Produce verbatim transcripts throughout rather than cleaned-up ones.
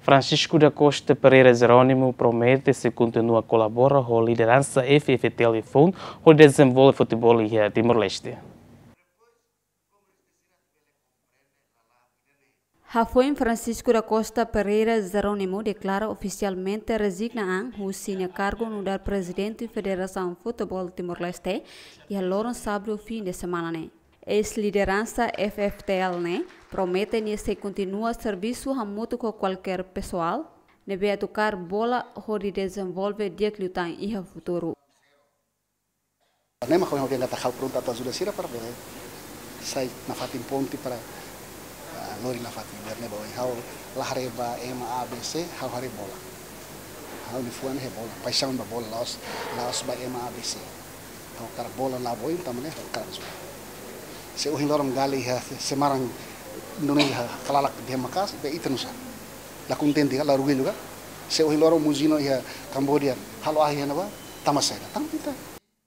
Francisco da Costa Pereira Jerónimo promete sei kontinua kolabora ho lideransa F F T L iha foun hodi dezenvolve futeból iha Timor-Leste. Hafoin Francisco da Costa Pereira Jerónimo deklara ofisialmente rezigna an husi nia kargu nu'udar Prezidente Federasaun Futeból Timor-Leste iha loron sábadu fin de semana ne'e. Eis-lideransa F F T L ne'e promete nia sei kontinua servisu hamutuk ho kualkér pesoál ne'ebé atu kaer bola hodi dezenvolve di'ak liután iha futuru. Ne'e mak ha'u dehan katak ha'u prontu atu ajuda sira para bele sai nafatin ponte para, ah, lori nafatin. Biar ne'e ba oin ha'u la haree ba ema A B C, ha'u haree bola. Ha'u-nia fuan iha bola, paixaun ba bola, la'ós, la'ós ba ema A B C. Ha'u hakarak bola la ba oin, tanba ne'e ha'u hakarak ajuda. Se ohin loron Gale iha Semarang, nune'e iha kalalak dehan maka'as, be ita nusá? La kontente ka, la orgullu ka? Se ohin loron Muzino iha Kamboja halo ahi iha ne'ebá, tanba saida? Tanba ita.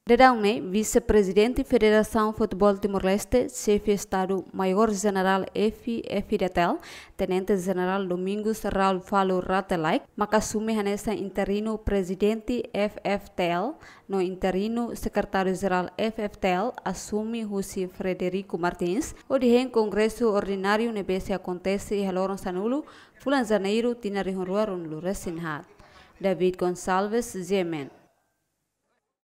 Daudaun ne'e, Vise-Prezidente Federasaun Futeból Timor-Leste, Xefe Estadu Maiór Jenerál F F D T L, Tenente Jenerál Domingos Raul Falo Rate Laek, maka asume hanesan interinu Prezidente F F T L, no interinu Sekretáriu Jerál F F T L asume husi Frederico Martins, hodi hein Kongresu Ordináriu ne'ebé sei akontese iha loron sanulu, fulan Janeiru, tinan rihun rua ruanulu-resin-haat. David Gonçalves, G M N.